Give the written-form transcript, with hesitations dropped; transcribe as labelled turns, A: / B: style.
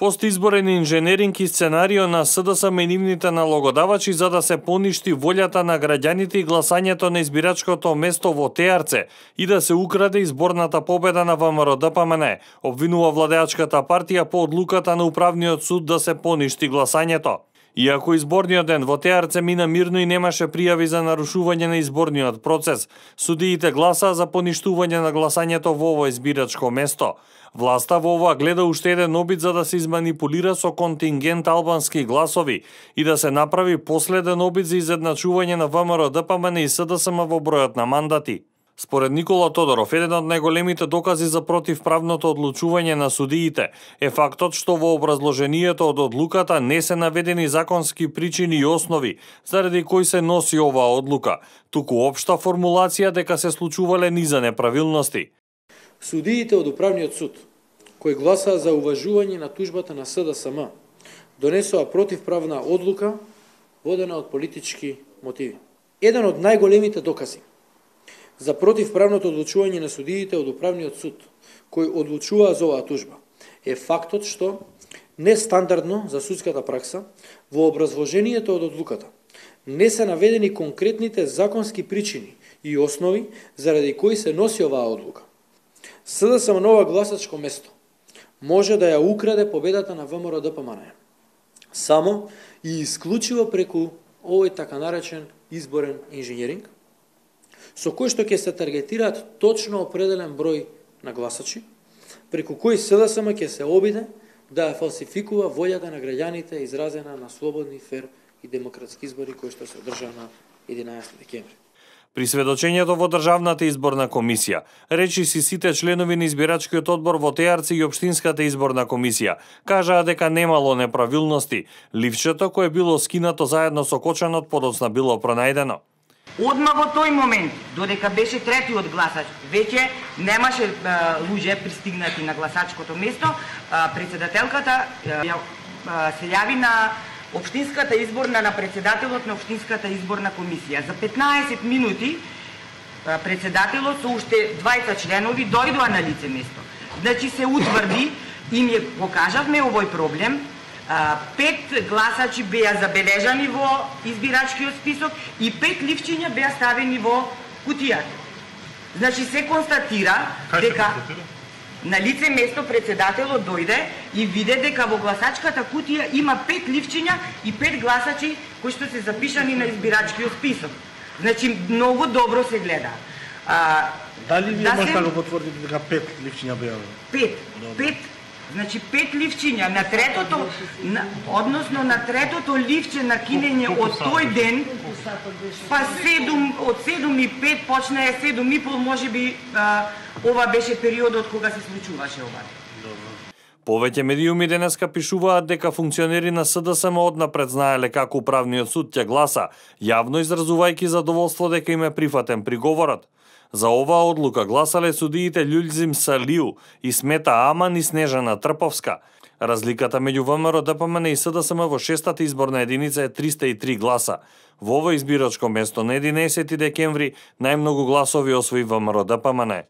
A: Постизборен инженеринг и сценарио на СДСМ и нивните налогодавачи за да се поништи волјата на граѓаните и гласањето на избирачкото место во Теарце и да се украде изборната победа на ВМРО-ДПМН, обвинува владеачката партија по одлуката на Управниот суд да се поништи гласањето. Иако изборниот ден во Теарце мина мирно и немаше пријави за нарушување на изборниот процес, судиите гласаа за поништување на гласањето во ово избирачко место. Власта во ова гледа уште еден обид за да се изманипулира со контингент албански гласови и да се направи последен обид за изедначување на ВМРО-ДПМН и СДСМ во бројот на мандати. Според Никола Тодоров, еден од најголемите докази за противправното одлучување на судиите е фактот што во образложението од одлуката не се наведени законски причини и основи заради кои се носи оваа одлука, туку општа формулација дека се случувале низа неправилности.
B: Судиите од Управниот суд, кои гласаа за уважување на тужбата на СДСМ, донесоа противправна одлука водена од политички мотиви. Еден од најголемите докази за противправното одлучување на судиите од Управниот суд, кои одлучуваа за оваа тужба, е фактот што нестандардно за судската пракса во образложението од одлуката не се наведени конкретните законски причини и основи заради кои се носи оваа одлука. СДСМ на ова гласачко место може да ја украде победата на ВМРО-ДПМН само и исклучиво преку овој така наречен изборен инженеринг, со кој што ќе се таргетираат точно определен број на гласачи, преку кој СДСМ ќе се обиде да фалсификува волјата на граѓаните изразена на слободни, фер и демократски избори кои што се одржаа на 11 декември.
A: При сведочењето во Државната изборна комисија, речи си сите членови на избирачкиот одбор во Теарце и Општинската изборна комисија, кажаа дека немало неправилности. Ливчето кое било скинато заедно со кочанот подоцна било пронајдено.
C: Одма во тој момент, додека беше третиот гласач, веќе немаше луѓе пристигнати на гласачкото место, председателката се јави на Општинската изборна, на председателот на Општинската изборна комисија. За 15 минути председателот со уште 20 членови дојдоа на лице место. Значи се утврди, им ја покажавме овој проблем, 5 гласачи беа забележани во избирачкиот список и 5 ливчиња беа ставени во кутијата. Значи се констатира дека на лице место председателот дојде и виде дека во гласачката кутија има 5 ливчиња и 5 гласачи кои што се запишани на избирачкиот список. Значи многу добро се гледа.
D: Дали ви може да го потврдите дека 5 ливчиња беа?
C: 5. Значи 5 ливчиња на третото, односно на третото ливче на кинење од тој ден, па 7, од 7:05 почна 7:30, можеби ова беше периодот кога се случуваше ова.
A: Повеќе медиуми денеска пишуваат дека функционери на СДСМ однапред знаеле како Управниот суд ќе гласа, јавно изразувајќи задоволство дека им е прифатен приговорот. За оваа одлука гласале судиите Љулзим Салиу и Смета Аман и Снежана Трповска. Разликата меѓу ВМРО-ДПМН и СДСМ во 6-та изборна единица е 303 гласа. Во ово избирачко место на 11 декември најмногу гласови освои ВМРО-ДПМН.